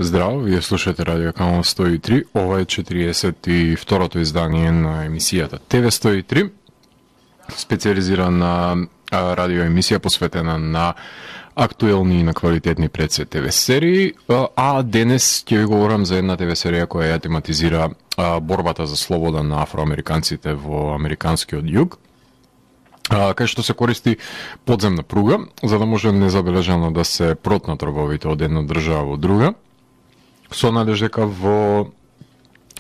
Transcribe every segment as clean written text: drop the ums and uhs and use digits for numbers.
Здраво, вие слушате Радио Канал 103, ова е 42-то издание на емисијата ТВ 103, специализирана радио емисија посветена на актуелни и на квалитетни предсвет ТВ серии, а денес ќе ви говорам за една ТВ серија која ја тематизира борбата за слобода на афроамериканците во американскиот југ, кај што се користи подземна пруга, за да може незабележано да се протнат робовите од една држава во друга, со надеж дека во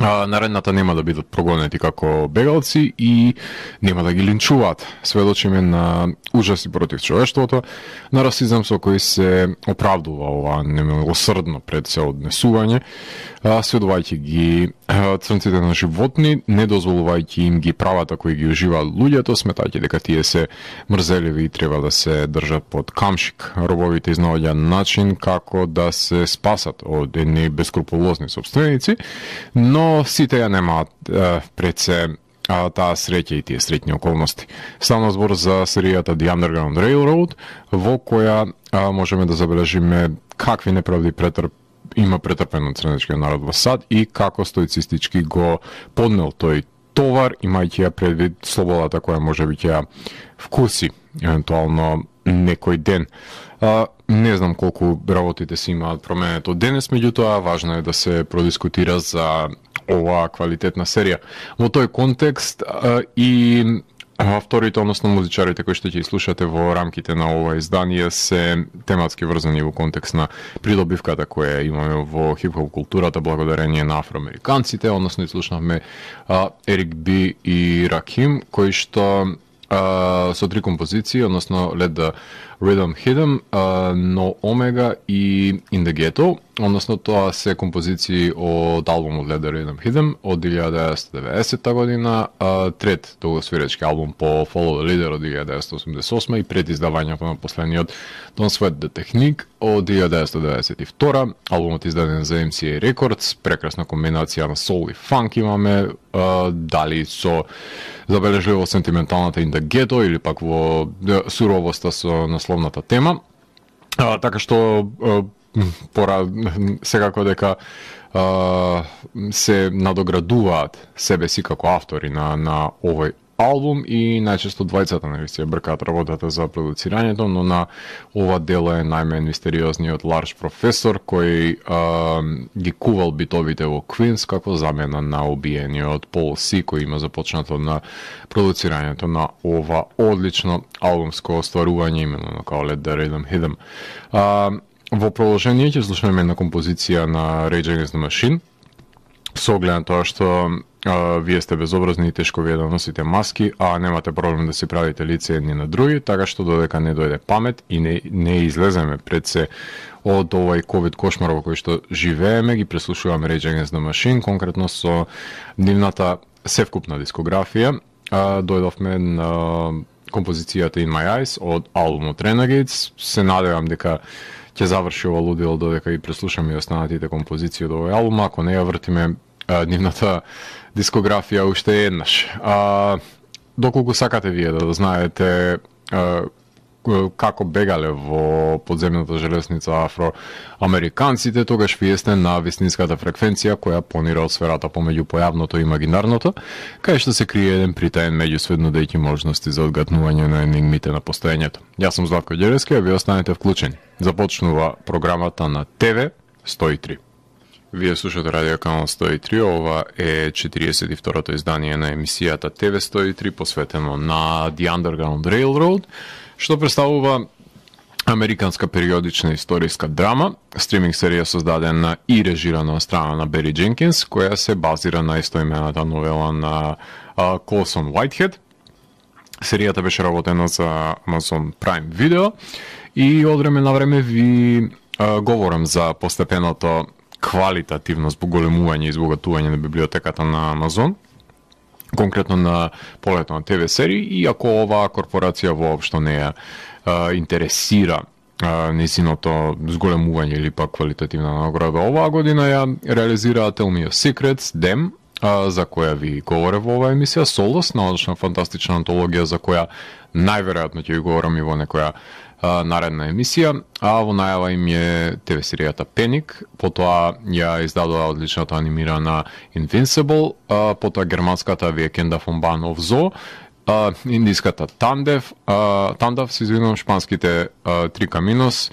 наредната нема да бидат прогонети како бегалци и нема да ги линчуваат. Сведочиме на ужаси против човештвото, на расизам со кој се оправдува ова немилосрдно пред се однесување, сведувајќи ги црнците на животни, не дозволувајќи им ги правата кои ги уживаат луѓето, сметајќи дека тие се мрзеливи и треба да се држат под камшик. Робовите изнаоѓа начин како да се спасат од едни бескрупулозни собственици, но сите ја немаат пред се таа среќа и тие среќни околности. Ставна збор за серијата The Underground Railroad, во која можеме да забележиме какви неправди има претрпен од црнечкиот народ во САД и како стоицистички го поднел тој товар, имајќи ја предвид слободата која може би ќе вкуси евентуално некој ден. Не знам колку работите си имаат променето денес, меѓутоа важно е да се продискутира за оваа квалитетна серија. Во тој контекст и авторите, односно музичарите кои што ќе слушате во рамките на ова издание се тематски врзани во контекст на придобивката која имаме во хип-хоп културата благодарение на афроамериканците, односно слушнавме Ерик Би и Раким, кои што со три композиции, односно Let the Rhythm Hit 'em, No Omega и In the Ghetto, односно тоа се композиции од албумот Let the Rhythm Hit 'em од 1990 година, трет долгосвиречки албум по Follow the Leader од 1988 и пред издавањето на последниот Don't Sweat the Technique од 1992, албумот издаден за MCA Records, прекрасна комбинација на soul и funk имаме, дали со забележливо сентименталната In the Ghetto или пак во суровоста со насловната тема. Така што секако дека се надоградуваат себе си како автори на овој албум и најчесто двајцата се бркаат работата за продуцирањето, но на ова дело е најмен мистериозниот Ларш Професор кој ги кувал битовите во Queens како замена на убиениот Пол Си кој има започнато на продуцирањето на ова одлично албумско остварување именно како Let the Rhythm Hit 'em. Во продолжение ќе слушаме една композиција на Rage Against the Machine, со оглед на тоа што вие сте безобразни и тешко вие да носите маски, а немате проблем да си правите лице едни на други, така што додека не дојде памет и не излеземе пред се од овој ковид кошмар во кој што живееме, ги преслушуваме Rage Against the Machine, конкретно со нивната севкупна дискографија. Дојдовме на композицијата In My Eyes од албумот Renegades. Се надевам дека ќе заврши ова лудило додека и преслушаме и останатите композиции од овој албум, ако не ја вртиме нивната дискографија уште еднаш. Доколку сакате вие да знаете како бегале во подземната железница афроамериканците, тогаш вие сте на вистинската фреквенција која понира од сферата помеѓу појавното и имагинарното, кај што се крие еден притаен меѓусвет нудејќи можности за одгатнување на енигмите на постоењето. Јас сум Златко Ѓеревски, а вие останете вклучени. Започнува програмата на ТВ 103. Вие слушате Радио Канал 103, ова е 42-то издание на емисијата ТВ 103 посветено на The Underground Railroad, што представува американска периодична историска драма, стриминг серија создадена и режирана од страна на Бери Дженкинс, која се базира на истоимената новела на Колсон Уајтхед. Серијата беше работена за Amazon Prime Video и од време на време ви говорам за постепеното квалитативно збоголемување и збогатување на библиотеката на Амазон, конкретно на полето на ТВ серии, и ако оваа корпорација воопшто не ја интересира незиното зголемување или пак квалитативна награда, оваа година ја реализираа Tell Me Your Secrets, DEM, за која ви говорев во оваа емисија, Солос, научна фантастична антологија за која најверојатно ќе ви говорам и во некоја наредна емисија, а во најава им е ТВ серијата Пеник, потоа ја издадоа одличната анимирана Invincible, потоа германската Викенда фон Бан оф Зо, индиската Тандав, се извинувам, шпанските Три Каминос,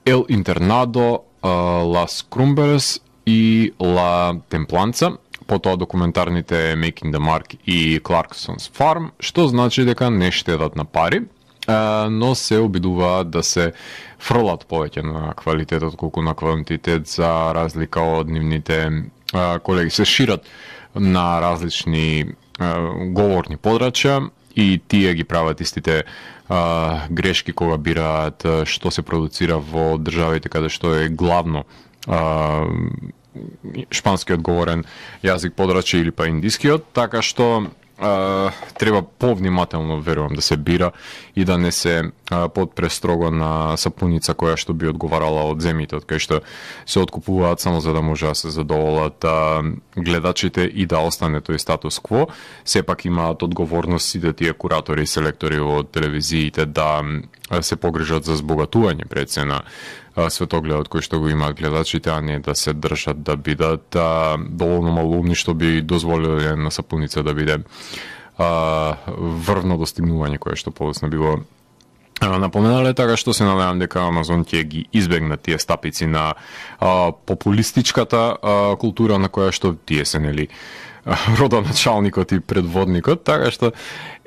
Ел Интернадо, Лас Крумберес и Ла Темпланца, потоа документарните Making the Mark и Clarkson's Farm, што значи дека не штедат на пари, но се обидуваат да се фрлат повеќе на квалитетот колку на квантитет, за разлика од нивните колеги. Се шират на различни говорни подрачја и тие ги прават истите грешки кога бираат што се продуцира во државите каде што е главно шпанскиот говорен јазик подрачје или па индискиот, така што треба повнимателно, верувам, да се бира и да не се подпрестрого на сапуница која што би одговарала од земјите, од кај што се откупуваат само за да може да се задоволат гледачите и да остане тој статус кво. Сепак имаат одговорност сите тие куратори и селектори од телевизиите да се погрижат за збогатување пред се на светогледот кој што го имаат гледачите, а не да се држат да бидат доволно малумни, што би дозволиле на сапуница да биде врвно достигнување кое што подоцна било напоменале, така што се надевам дека Амазон ќе ги избегнат тие стапици на популистичката култура на која што тие се нели родоначалникот и предводникот, така што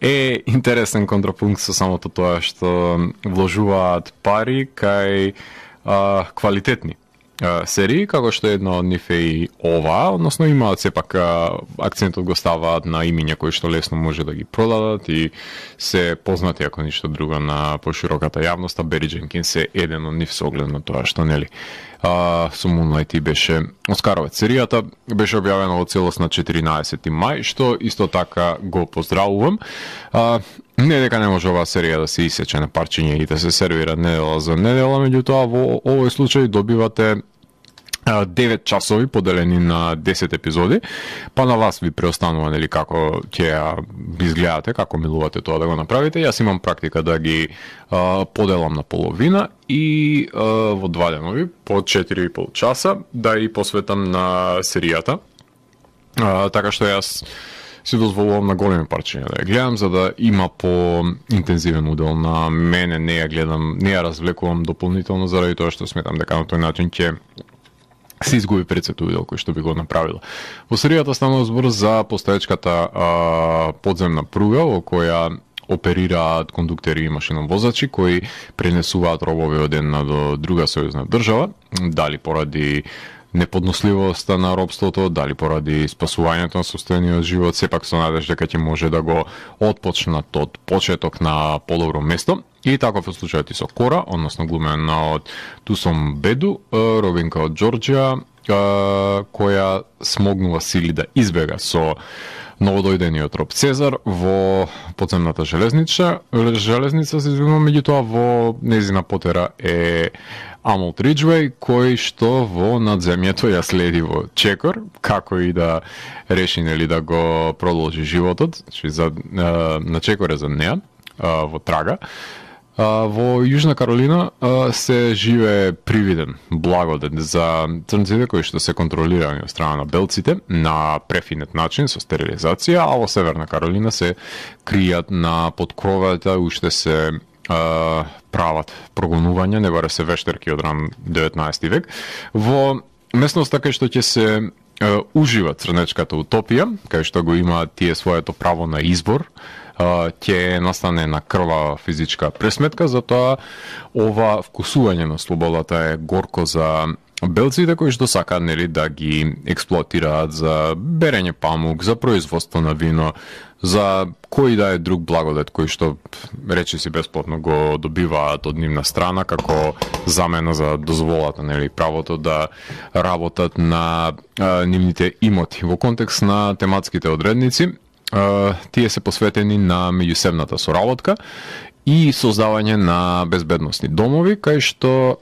е интересен контрапункт со самото тоа што вложуваат пари кај квалитетни серии, како што една од нив е и ова, односно имаат сепак акцентот го ставаат на имиња кои што лесно може да ги продадат и се познати ако ништо друго на пошироката јавност, а Бери Дженкинс е еден од нив со оглед на тоа што нели со Moonlight и беше оскаровец. Серијата беше објавена во целост на 14 мај, што исто така го поздравувам. Не дека не може оваа серија да се исече на парчиња и да се сервира недела за недела, меѓутоа во овој случај добивате 9 часови поделени на 10 епизоди, па на вас ви преостанува нели како ќе ја изгледате, како милувате тоа да го направите. Јас имам практика да ги поделам на половина и во 2 денови по 4,5 часа да и посветам на серијата. Така што јас си дозволувам на големи парчиња да ја гледам, за да има по-интензивен удел на мене, не ја гледам, не ја развлекувам дополнително заради тоа што сметам дека на тој начин ќе се изгуби пред удел кој што би го направила. Во серијата станува збор за постоечката подземна пруга во која оперираат кондуктери и машиновозачи кои пренесуваат робови од една до друга сојузна држава, дали поради неподносливоста на робството, дали поради спасувањето на состојаниот живот, сепак со надеж дека ќе може да го отпочнат од почеток на подобро место. И таков е случајот и со Кора, односно глумена од Тусом Беду, робинка од Џорџија, која смогнува сили да избега со новодојдениот роб Цезар во подземната железница, се извинувам, меѓутоа во незина потера е Амолт Риджвеј, кој што во надземјето ја следи во чекор, како и да реши нели да го продолжи животот, на чекор е за неа, во трага. Во Јужна Каролина се живее привиден благодет за црнците кои што се контролирани од страна на белците на префинет начин со стерилизација, а во Северна Каролина се кријат на подкровата, уште се прават прогонувања, не баре се вештерки од ран 19 век. Во местноста кај што ќе се ужива црнечката утопија, кај што го имаат тие своето право на избор, ќе настане на крвава физичка пресметка, затоа ова вкусување на слободата е горко за белците кои што сакаат нели да ги експлоатираат за берење памук, за производство на вино, за кој да е друг благодет кој што речиси бесплатно го добиваат од нивна страна како замена за дозволата, нели правото да работат на нивните имоти. Во контекст на тематските одредници, тие се посветени на меѓусебната соработка и создавање на безбедносни домови кај што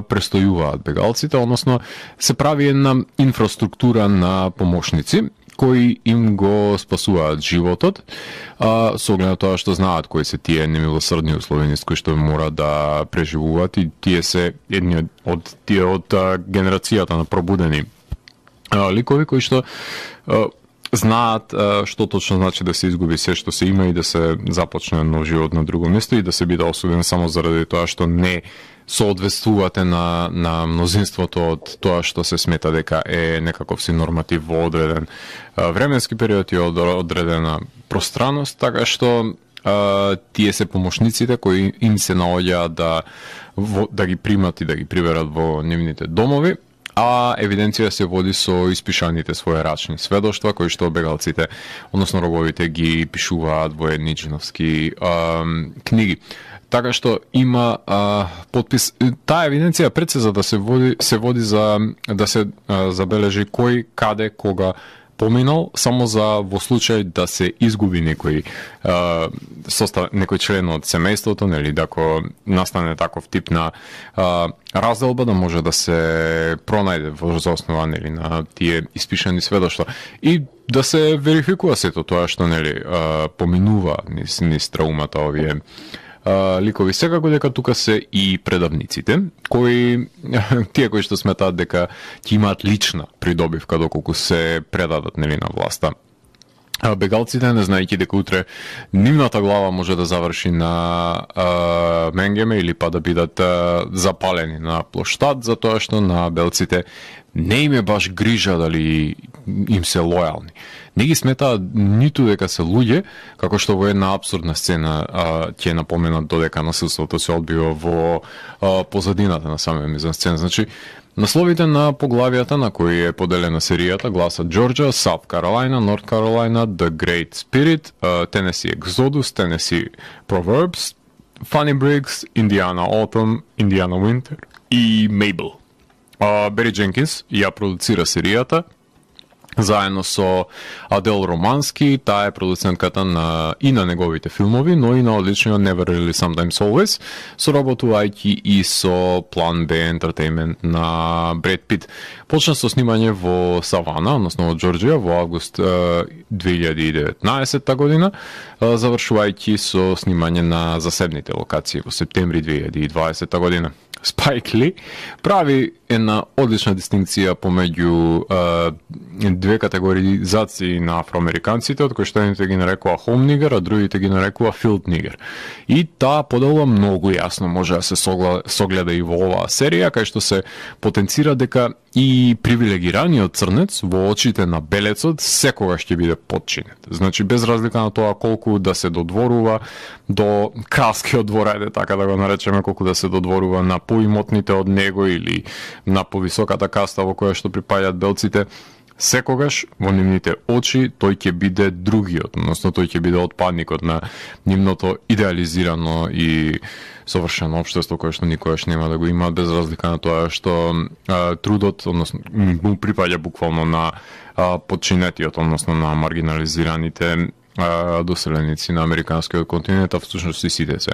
престојуваат бегалците, односно се прави една инфраструктура на помошници кои им го спасуваат животот, со оглед на тоа што знаат кои се тие немилосрдни услови низ кои што мора да преживуваат, и тие се едни од генерацијата на пробудени ликови кои што знаат што точно значи да се изгуби се што се има и да се започне нов живот на друго место и да се биде осуден само заради тоа што не соодветствувате на мнозинството од тоа што се смета дека е некаков си норматив во одреден временски период и одредена пространност, така што тие се помошниците кои им се наоѓаат да ги примат и да ги приберат во нивните домови, а евиденција се води со испишаните своерачни сведоштва кои што бегалците, односно робовите, ги пишуваат во едни джиновски книги. Така што има подпис. Таа евиденција пред се за да се води за да се забележи кој, каде, кога поминал, само за во случај да се изгуби некој член од семејството, нели, ако настане таков тип на разделба, да може да се пронајде во основа, нели, на тие испишани сведоштва и да се верификува сето тоа што, нели, поминува низ траумата овие ликови. Секако дека тука се и предавниците, тие кои што сметаат дека ќе имаат лична придобивка доколку се предадат, нели, на власта. Бегалците, не знаејќи дека утре нивната глава може да заврши на Менгеме или па да бидат запалени на плоштад, затоа што на белците не им е баш грижа дали им се лојални. Не ги сметаат ниту дека се луѓе, како што во една абсурдна сцена ќе напоменат додека насилството се одбива во позадината на самия мизансцена. Значи, насловите на поглавијата на кои е поделена серијата гласат Georgia, South Carolina, North Carolina, The Great Spirit, Tennessee Exodus, Tennessee Proverbs, Funny Briggs, Indiana Autumn, Indiana Winter и Mabel. Бери Дженкинс ја продуцира серијата заедно со Адел Романски, таа е продуцентката и на неговите филмови, но и на одличниот Never Really Sometimes Always, соработувајќи и со Plan B Entertainment на Бред Пит. Почна со снимање во Савана, односно во Џорџија, во август 2019 година, завршувајќи со снимање на засебните локации во септември 2020 година. Спайк Ли прави една одлична дистинкција помеѓу две категоризации на афроамериканците, од кои што едните ги нарекува home nigger, а другите ги нарекува field nigger. И таа подела многу јасно може да се согледа и во оваа серија, кај што се потенцира дека и привилегираниот црнец во очите на белецот секогаш ќе биде подчинет. Значи, без разлика на тоа колку да се додворува до кралскиот двор, ајде така да го наречеме, колку да се додворува на поимотните од него или на повисоката каста во која што припаѓаат белците, секогаш во нивните очи тој ќе биде другиот, односно тој ќе биде отпадникот на нивното идеализирано и совршено општество кое што никогаш нема да го има, без разлика на тоа што трудот, односно му припаѓа буквално на подчинетиот, односно на маргинализираните доселеници на американскиот континент, а всушност и сите се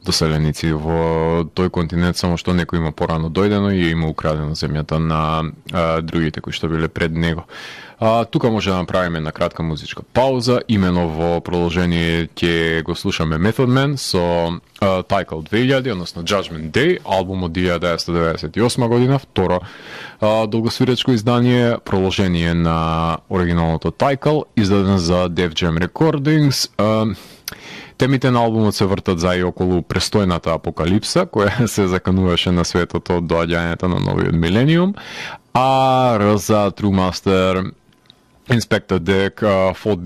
доселеници во тој континент, само што некој има порано дојдено и има украдено земјата на другите кои што биле пред него. Тука може да направиме една кратка музичка пауза, имено во продолжение ќе го слушаме Method Man со Title 2000, односно Judgment Day, албум од 1998 година, второ долгосвиречко издание, продолжение на оригиналното Title, издаден за Def Jam Recordings. Темите на албумот се вртат за и околу престојната апокалипса, која се закануваше на светот од доаѓањето на новиот милениум, а RZA, True Master, Inspector Deck, Fourth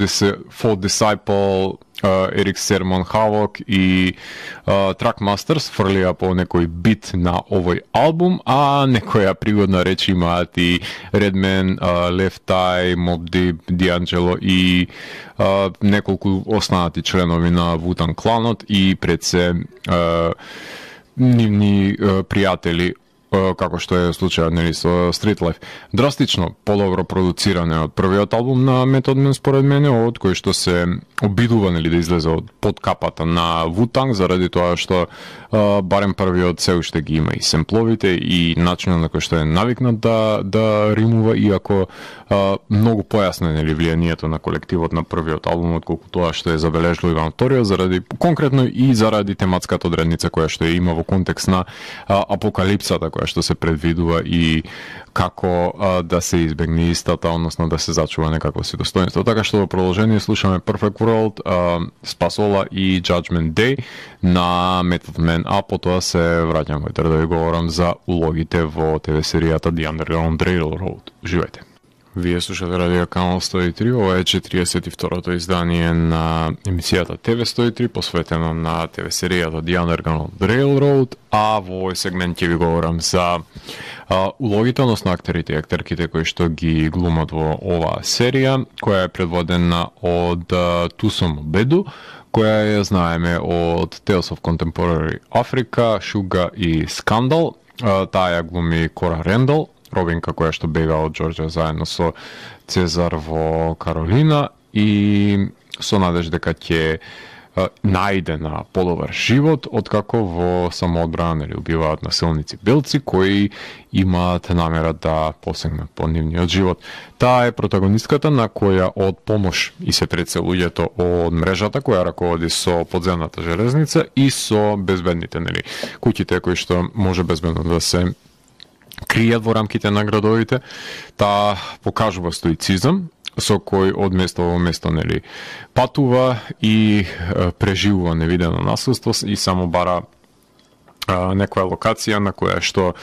Disciple, Eric Sermon, Havoc и Trackmasters фрлија по некој бит на овој албум, а некоја пригодна реч имаат и Redman, Left Eye, Mobb Deep, D'Angelo и неколку останати членови на Wu-Tang кланот и пред се нивни пријатели како што е случајот нели со Street Life, драстично подобро продуциране од првиот албум на Method Man според мене, од кој што се обидува нели да излезе од под капата на Wu-Tang, заради тоа што барем првиот се уште ги има и семпловите и начинот на кој што е навикнат да римува, иако многу појасно нели влијанието на колективот на првиот албум отколку тоа што е забележливо на вториот, заради конкретно и заради тематската одредница која што има во контекст на апокалипсата која што се предвидува и како да се избегне истата, односно да се зачува некакво си достоинство. Така што во продолжение слушаме Perfect World, Spasola и Judgment Day на Method Man, а потоа се враќам во да ви говорам за улогите во ТВ серијата The Underground Railroad. Живејте. Вие слушате Радио Канал 103, ова е 42-то издание на емисијата ТВ 103, посветено на ТВ серијата The Underground Railroad, а во овој сегмент ќе ви говорам за улогите, односно актерите и актерките кои што ги глумат во оваа серија, која е предводена од Тусом Беду, која ја знаеме од Tales of Contemporary Africa, Шуга и Скандал. Таа ја глуми Кора Рендал, Робинка која што бега од Џорџа заедно со Цезар во Каролина и со надеж дека ќе најде на подобар живот, откако во самоодбрана или убиваат насилници белци кои имаат намера да посегнат по нивниот живот. Таа е протагонистката на која од помош и се тресе луѓето од мрежата која раководи со подземната железница и со безбедните куќите кои што може безбедно да се кријат во рамките на градовите. Таа покажува стоицизам, со кој од место во место патува и преживува невидено насилство и само бара некоја локација на која што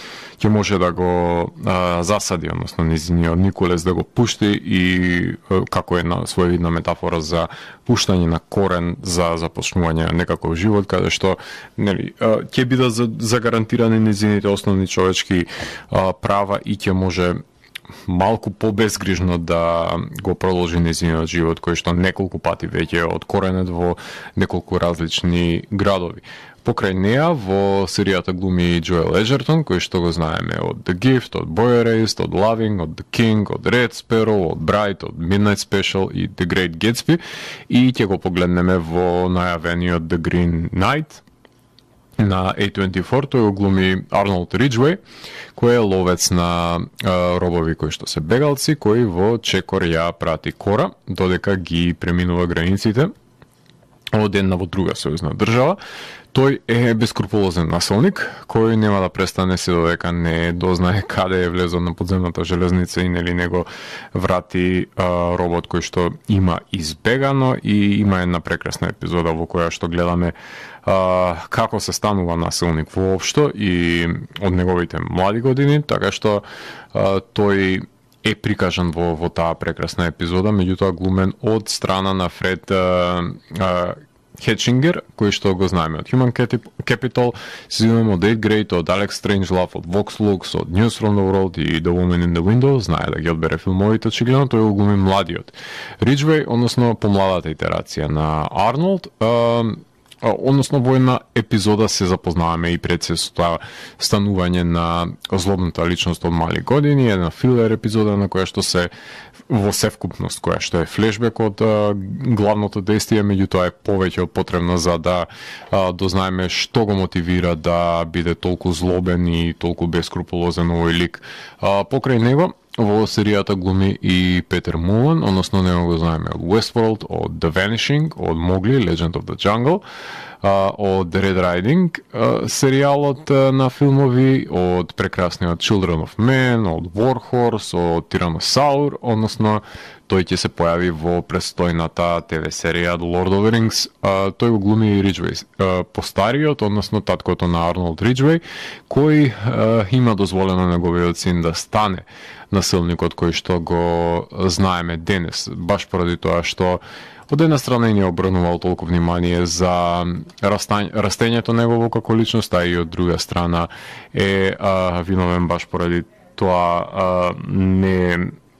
ќе може да го засади, односно низиниот Николес да го пушти и како една своевидна метафора за пуштање на корен за започнување на некаков живот каде што ќе бидат загарантирани низините основни човечки права и ќе може малку побезгрижно да го продолжи незиниот живот кој што неколку пати веќе од коренет во неколку различни градови. Покрај неа во серијата глуми Джоел Еджертон, кој што го знаеме од The Gift, од Boy Erased, од Loving, од The King, од Red Sparrow, од Bright, од Midnight Special и The Great Gatsby, и ќе го погледнеме во најавениот The Green Knight на A24. Тој го глуми Арнолд Риджвеј, кој е ловец на робови кои што се бегалци, кој во чекор ја прати Кора, додека ги преминува границите од една во друга сојузна држава. Тој е бескрупулозен насилник, кој нема да престане се додека не дознае каде е влезол на подземната железница и не го врати робот кој што има избегано, и има една прекрасна епизода во која што гледаме како се станува насилник воопшто и од неговите млади години, така што тој е прикажан во таа прекрасна епизода, меѓутоа глумен од страна на Фред Хетчингер, кој што го знаеме од Human Capital, се знаеме од 8 Grade, од Alex Strangelove, од Vox Lux, од News from the World и The Woman in the Window, знае да ги одбере филмовите, очигледно тој го глуми младиот Риджвеј, односно помладата итерација на Арнолд. Односно во една епизода се запознаваме и пред се со тоа станување на злобната личност од мали години, една филер епизода на која што се во севкупност, која што е флешбек од главното действие, меѓутоа е повеќе од потребно за да дознаеме што го мотивира да биде толку злобен и толку бескрупулозен овој лик. Покрај него во серијата глуми и Петер Мулан, односно него го знаеме од Westworld, од The Vanishing, од Mowgli, Legend of the Jungle, од Red Riding серијалот на филмови, од прекрасниот Children of Men, од War Horse, од Tyrannosaur, односно тој ќе се појави во престојната ТВ серија Lord of the Rings. Тој го глуми Риджвеј, постариот, односно таткото на Арнолд Риджвеј, кој има дозволено неговиот син да стане насилникот кој што го знаеме денес, баш поради тоа што од една страна не обрнувал толку внимание за растењето негово како личност, а и од друга страна е виновен баш поради тоа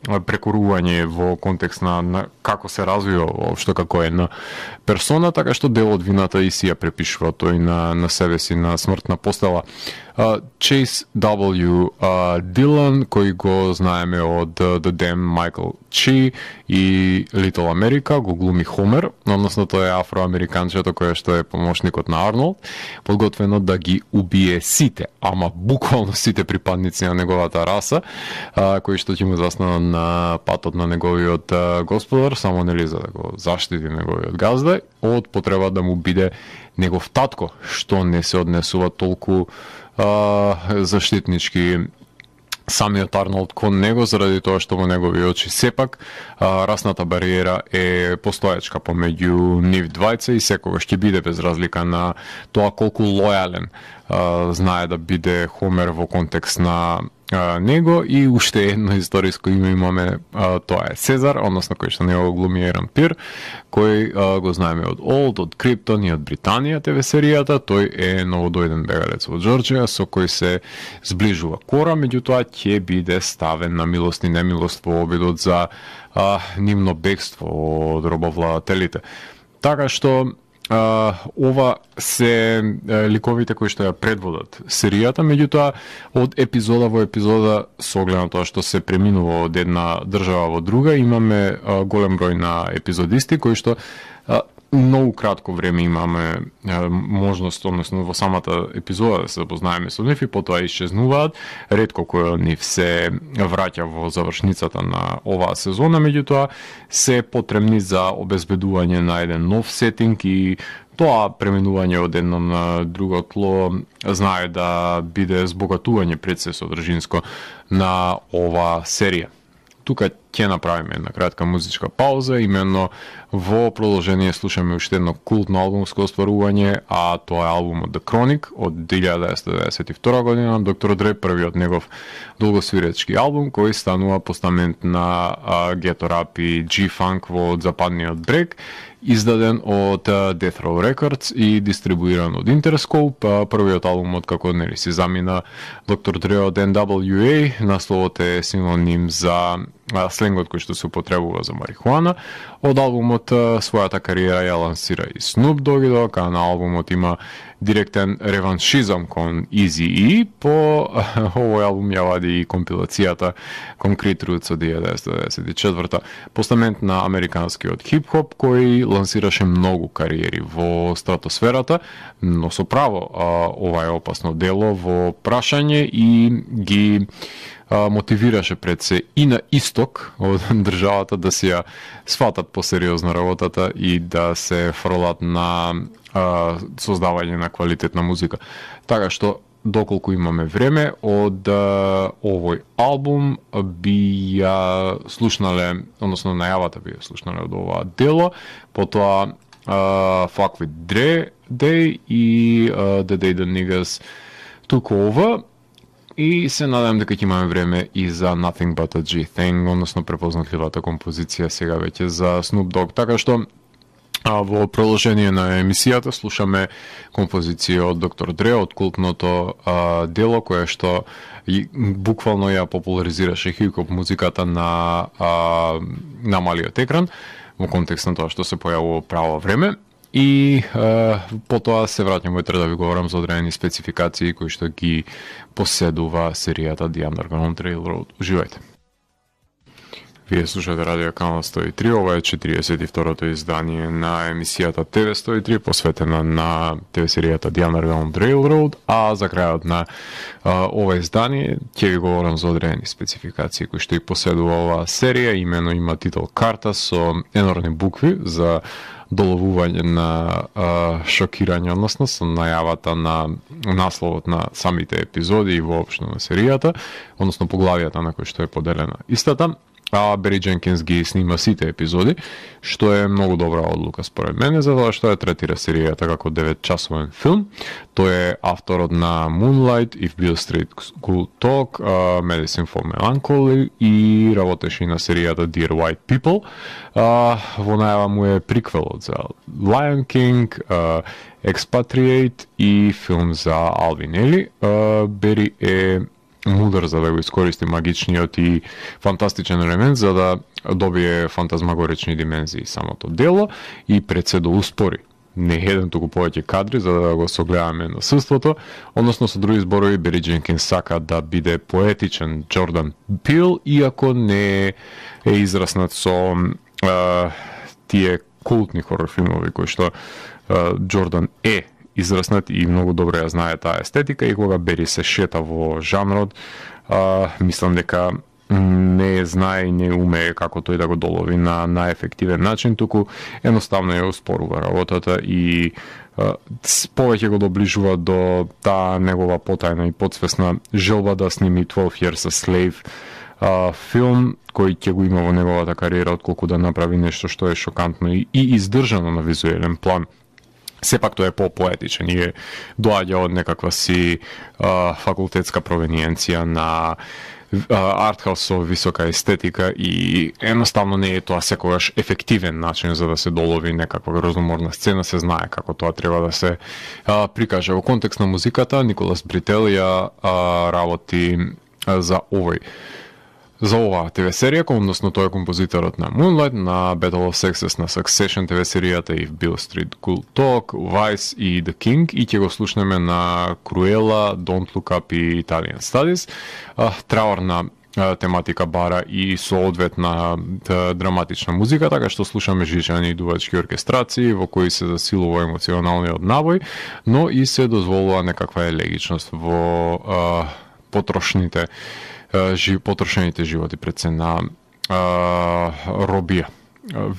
прекорување во контекст на како се развива воопшто како една персона, така што дел од вината и си ја препишува тој на себе си на смртна постела. Chase W. Dillon, кој го знаеме од The Damn Michael Chi и Little America, го глуми Хомер, односно тој е афроамериканчето кој што е помошникот на Арнолд, подготвено да ги убие сите, ама буквално сите припадници на неговата раса, кои што ќе му застанат на патот на неговиот господар, само нели за да го заштити неговиот газда, од потреба да му биде негов татко, што не се однесува толку заштитнички самиот Арнолд кон него, заради тоа што во негови очи сепак расната бариера е постоечка помеѓу нив двајца и секогаш ќе биде без разлика на тоа колку лојален знае да биде Хомер во контекст на него. И уште едно историско име имаме, тоа е Сезар, односно кој што него глуми Еран Пир, кој го знаеме од Олд, од Криптон и од Британија ТВ серијата. Тој е новодојден бегалец во Џорџија со кој се зближува Кора, меѓутоа ќе биде ставен на милост и немилост во обидот за нивно бегство од робовладателите. Така што ова се ликовите кои што ја предводат серијата, меѓутоа од епизода во епизода, со оглед на тоа што се преминува од една држава во друга, имаме голем број на епизодисти кои што многу кратко време имаме можност, односно во самата епизода да се запознаеме со нив и потоа исчезнуваат. Ретко кој од нив се враќа во завршницата на оваа сезона, меѓутоа се потребни за обезбедување на еден нов сетинг и тоа преминување од едно на друго тло знае да биде збогатување пред се содржинско на оваа серија. Тука ќе направиме една кратка музичка пауза, именно во продолжение слушаме уште едно култно албумско остварување, а тоа е албумот The Chronic од 1992 година, Доктор Дре, првиот негов долгосвиречки албум, кој станува постамент на гето рап и G-Funk во западниот брег, издаден од Death Row Records и дистрибуиран од Interscope. Првиот албум од како нели си замина Доктор Дре од NWA, насловот е синоним за сленгот кој што се употребува за марихуана. Од албумот својата кариера ја лансира и Snoop Dogg, а на албумот има директен реваншизам кон Eazy-E. По овој албум ја вади и компилацијата Concrete Roots од 1994. Постамент на американскиот хип-хоп кој лансираше многу кариери во стратосферата, но со право ова е опасно дело во прашање и ги мотивираше пред се и на исток од државата да си ја сватат посериозно работата и да се фрлат на создавање на квалитетна музика. Така што, доколку имаме време, од овој албум би ја слушнале, односно најавата би ја слушнале од ова дело, потоа Fuck with Dre Day и The Day the Niggas Took Over. И се надам дека ќе имаме време и за Nothing But a G-Thing, односно препознатливата композиција сега веќе за Snoop Dogg. Така што во продолжение на емисијата слушаме композиција од Доктор Дре, од култното дело кое што буквално ја популаризираше хип-хоп музиката на малиот екран во контекст на тоа што се појавува право време. И потоа се враќам во да ви говорам за одредени спецификации кои што ги поседува серијата The Underground Railroad. Уживајте. Вие слушате Радио Канал 103, ова е 42-то издание на емисијата ТВ 103, посветена на ТВ серијата The Underground Railroad, а за крајот на ова издание ќе ви говорам за одредени спецификации кои што и поседува оваа серија, имено има титул карта со енорни букви за доловување на шокирање, односно со најавата на насловот на самите епизоди и воопшто на серијата, односно поглавијата на кој што е поделена истата. А Бери Дженкинс ги снима сите епизоди, што е многу добра одлука според мене, затоа што ја третира серијата како 9-часовен филм. Тој е авторот на Moonlight, If Beale Street Could Talk, Medicine for Melancholy и работеше и на серијата Dear White People. Во најава му е приквелот за Lion King, Expatriate и филм за Alvin Ailey. Бери е мудар за да го искористи магичниот и фантастичен елемент за да добие фантазмагорични димензии самото дело и пред се да успори не еден туку повеќе кадри за да го согледаме насилството, односно со други зборови Бери Дженкинс сака да биде поетичен Джордан Пил, иако не е израснат со тие култни хорор филмови кои што Джордан е израснат и многу добро ја знае таа естетика и кога Бери се шета во жанрот, мислам дека не знае и не умее како тој да го долови на најефективен начин, туку едноставно ја успорува работата и повеќе го доближува до таа негова потајна и подсвесна желба да сними 12 Years a Slave филм кој ќе го има во неговата кариера, отколку да направи нешто што е шокантно и издржано на визуелен план. Сепак тој е по-поетичен и доаѓа од некаква си факултетска провениенција на артхаус со висока естетика и едноставно не е тоа секогаш ефективен начин за да се долови некаква грозоморна сцена, се знае како тоа треба да се прикаже. Во контекст на музиката, Николас Брител ја работи за оваа ТВ серија, односно тој е композиторот на Moonlight, на Battle of Sexes, на Succession ТВ серијата и Beale Street Cool Talk, Vice и The King, и ќе го слушнеме на Cruella, Don't Look Up и Italian Studies. Траурна тематика бара и соодветна драматична музика, така што слушаме жичани и дувачки оркестрации во кои се засилува емоционалниот набој, но и се дозволува некаква елегичност во потрошените животи пред се на робија.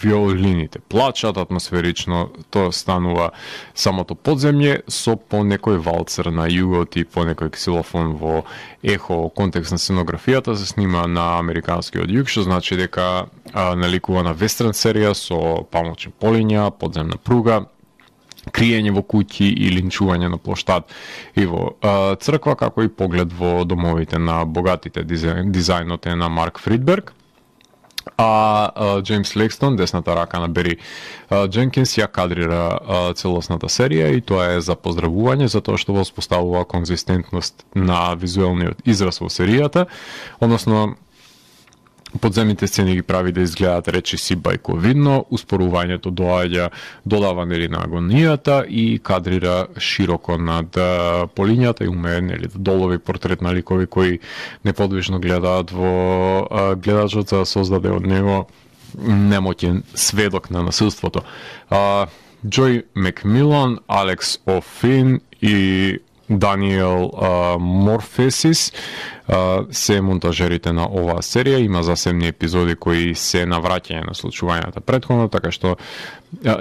Виолините плачат атмосферично, тоа станува самото подземје со по некој валцер на југот и по некој ксилофон во ехо. Контекст на сценографијата се снима на американскиот југ, што значи дека наликува на вестерн серија со памучни полиња, подземна пруга, криење во куќи и линчување на плоштад и во црква, како и поглед во домовите на богатите. Дизајнот е на Марк Фридберг, а Джеймс Лекстон, десната рака на Бери Дженкинс, ја кадрира целосната серија и тоа е за поздравување за тоа што воспоставува конзистентност на визуелниот израз во серијата, односно подземните сцени ги прави да изгледаат речиси бајковидно, успорувањето додава нели на агонијата и кадрира широко над полињата и умее нели да долови портрет на ликови кои неподвижно гледаат во гледачот за да создаде од него немоќен сведок на насилството. Джој Макмилан, Алекс О'Флин и Даниел Морфесис се монтажерите на оваа серија. Има засебни епизоди кои се навраќање на случувањата претходно, така што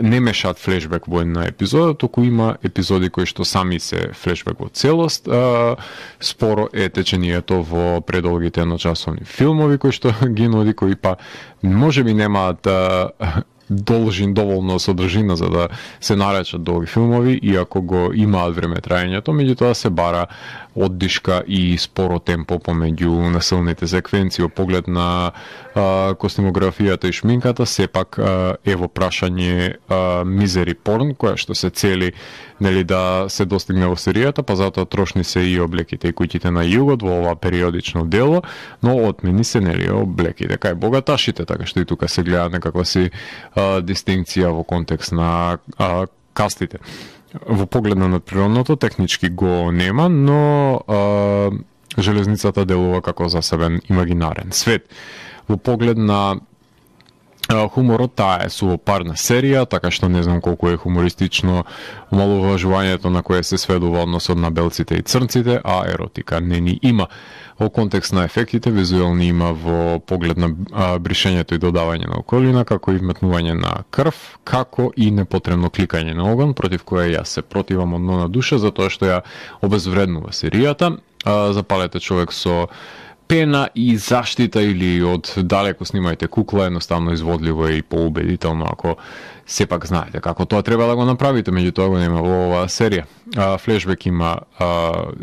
не мешаат флешбек во една епизода, туку има епизоди кои што сами се флешбек во целост. Споро е течението во предолгите едночасовни филмови кои што ги нуди, кои па можеби немаат доволно содржина за да се наречат долги филмови, иако го имаат време траењето, меѓутоа се бара оддишка и споро темпо помеѓу насилните секвенции. Поглед на костимографијата и шминката, сепак е во прашање мизери порн, која што се цели нели да се достигне во серијата, па затоа трошни се и облеките и куќите на југот во ова периодично дело, но отмени се нели облеките кај богаташите, така што и тука се гледа некаква си дистинкција во контекст на кастите. Во поглед на надприродното технички го нема, но железницата делува како засебен имагинарен свет. Во поглед на хуморот, таа е сувопарна серија, така што не знам колку е хумористично омалуважувањето на кое се сведува односот на белците и црнците, а еротика не ни има. Во контекст на ефектите, визуелни има во поглед на бришењето и додавање на околина, како и вметнување на крв, како и непотребно кликање на оган, против кое јас се противам од на душа, затоа што ја обезвреднува серијата. Запалете човек со пена и заштита или од далеко снимајте кукла, едноставно изводливо и поубедително ако сепак знаете како тоа треба да го направите, меѓутоа го нема во оваа серија. Флешбек има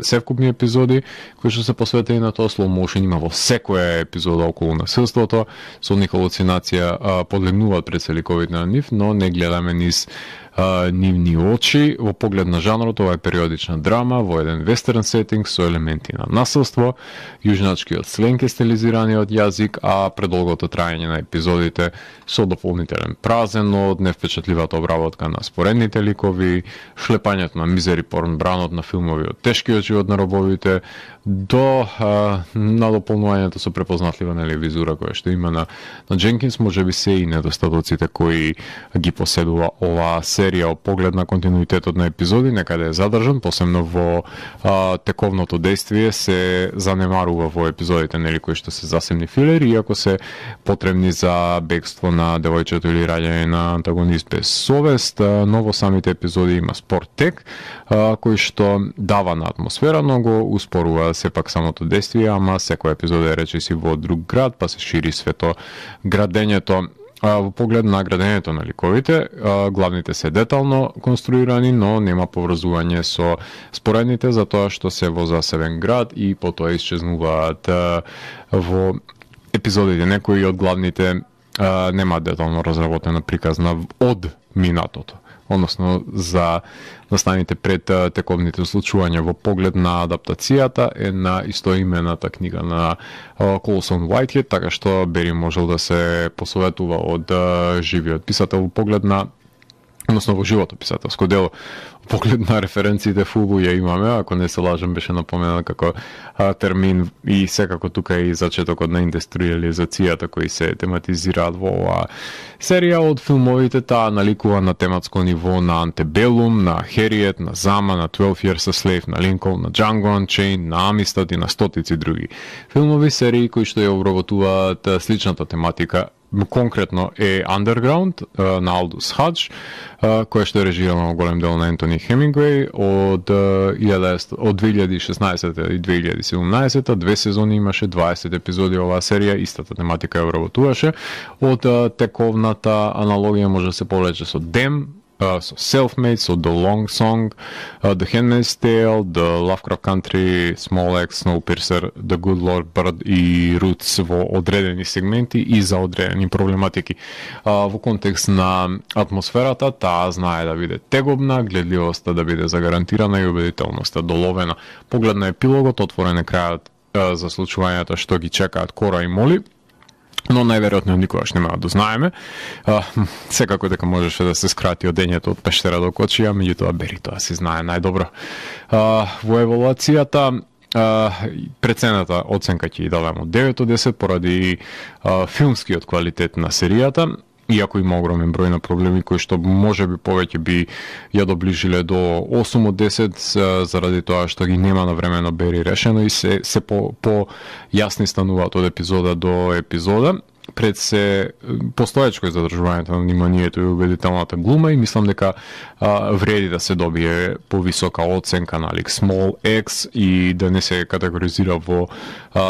севкупни епизоди кои што се посветени на тоа, slow motion има во секоја епизода околу насилството, со нив халуцинација подлегнуваат преселиковите на нив, но не гледаме низ нивни очи. Во поглед на жанрот, ова е периодична драма во еден вестерн сетинг со елементи на насилство, јужначкиот сленг е стилизираниот јазик, а предолгото траење на епизодите со дополнителен празен од невпечатливата обработка на споредните ликови, шлепањето на мизери порн бранот на филмови од тешкиот живот на робовите, до надополнувањето со препознатлива визура која што има на Дженкинс, можеби се и недостатоците кои ги поседува оваа серија. Од поглед на континуитетот на епизоди некаде е задржан, посебно во тековното действие се занемарува во епизодите кои што се засебни филери, иако се потребни за бегство на девојчето или раѓање на антагонист без совест, но во самите епизоди има спор тек кој што дава на атмосфера, но го успорува сепак самото действие, ама секој епизод е речиси во друг град, па се шири свето градењето. Во поглед на градењето на ликовите, главните се детално конструирани, но нема поврзување со споредните, затоа што се во засебен град и потоа исчезнуваат во епизодите. Некои од главните нема детално разработена приказна од минатото, односно за настаните пред тековните случувања. Во поглед на адаптацијата е на истоимената книга на Колсон Уајтхед, така што Бери можел да се посоветува од живиот писател во поглед на, односно во живото писателско дело. Во поглед на референциите фулбу ја имаме, ако не се лажам беше напоменат како термин, и секако тука и зачетокот на индустриализацијата кои се тематизираат во оваа серија. Од филмовите таа наликува на тематско ниво на Антебелум, на Хериет, на Зама, на 12 Years a Slave, на Линколн, на Django Unchained, на Амистад и на стотици други филмови серии кои што ја обработуваат сличната тематика. Конкретно е Underground на Алдус Хадж, која што е режирано во голем дел на Ентони Хемингуей од 2016 и 2017, 2 сезони имаше, 20 епизоди оваа серија, истата тематика ја обработуваше. Од тековната аналогија може да се повлече со Dem, со Self-Made, со The Long Song, The Handmaid's Tale, The Lovecraft Country, Small Axe, Snowpiercer, The Good Lord Bird и Roots во одредени сегменти и за одредени проблематики. Во контекст на атмосферата, таа знае да биде тегобна, гледливоста да биде загарантирана и убедителноста доловена. Поглед на епилогот, отворен е крајот за случувањата што ги чекаат Кора и Моли, но најверојатно никогаш нема да знаеме. Секако дека можеше да се скрати одењето од пештера до кочија, меѓутоа Бери тоа се знае најдобро. Во евалуацијата прецената оценка ќе ја дадам од 9 од 10 поради филмскиот квалитет на серијата, иако има огромен број на проблеми кои што можеби повеќе би ја доближиле до 8 од 10 заради тоа што ги нема на време на Бери решено и се по јасни стануваат од епизода до епизода. Пред се постоечко е задржувањето на вниманието и убедителната глума и мислам дека вреди да се добие повисока оценка на лик Small X и да не се категоризира во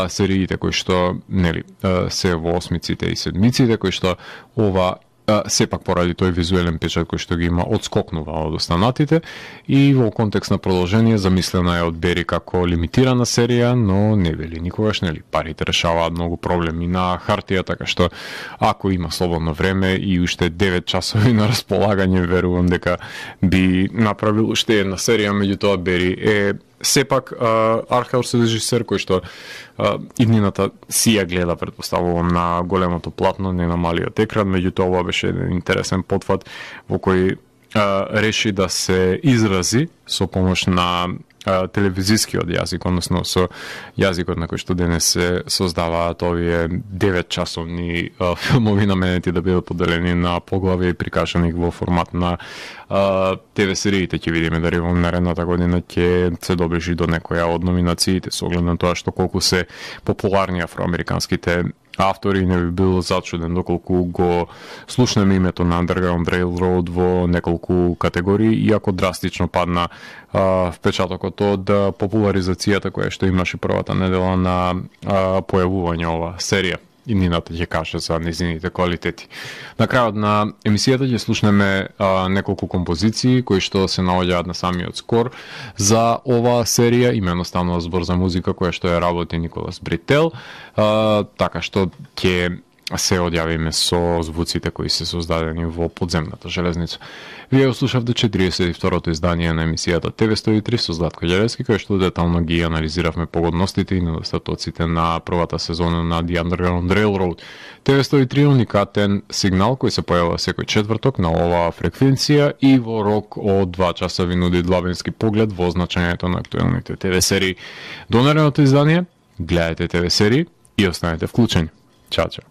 сериите кои што се во осмиците и седмиците, кои што ова сепак поради тој визуелен печат кој што ги има одскокнува од останатите и во контекст на продолжение замислена е од Бери како лимитирана серија, но не вели никогаш, парите решаваат многу проблеми на хартија, така што ако има слободно време и уште 9 часови на располагање, верувам дека би направил уште една серија, меѓутоа Бери е сепак артхаус режисер кој што иднината си ја гледа, предпоставувам, на големото платно, не на малиот екран, меѓутоа ова беше еден интересен потфат во кој реши да се изрази со помош на телевизискиот јазик, односно со јазикот на кој што денес се создаваат овие 9-часовни филмови наменети да бидат поделени на поглави и прикажани во формат на ТВ сериите. Ќе видиме дали во наредната година ќе се доближи до некоја од номинациите со оглед на тоа што колку се популарни афроамериканските автори, не би бил зачуден доколку го слушнеме името на Underground Railroad во неколку категории, иако драстично падна впечатокот од популаризацијата која што имаше првата недела на појавување ова серија. и Нината ќе каже за незините квалитети. На крајот на емисијата ќе слушнеме неколку композиции кои што се наоѓаат на самиот скор за оваа серија, имено станува збор за музика која што ја работи Николас Брител, така што ќе се одјавиме со звуците кои се создадени во подземната железница. Вие услушавте 42-то издание на емисијата ТВ103 со Златко Ѓелевски, кој што детално ги анализиравме погодностите и недостатоците на првата сезона на The Underground Railroad. ТВ103 е уникатен сигнал кој се појавува секој четврток на оваа фреквенција и во рок од 2 часа ви нуди длабински поглед во значењето на актуелните ТВ серии. До наредното издание, гледајте ТВ серии и останете вклучени. Чао, чао.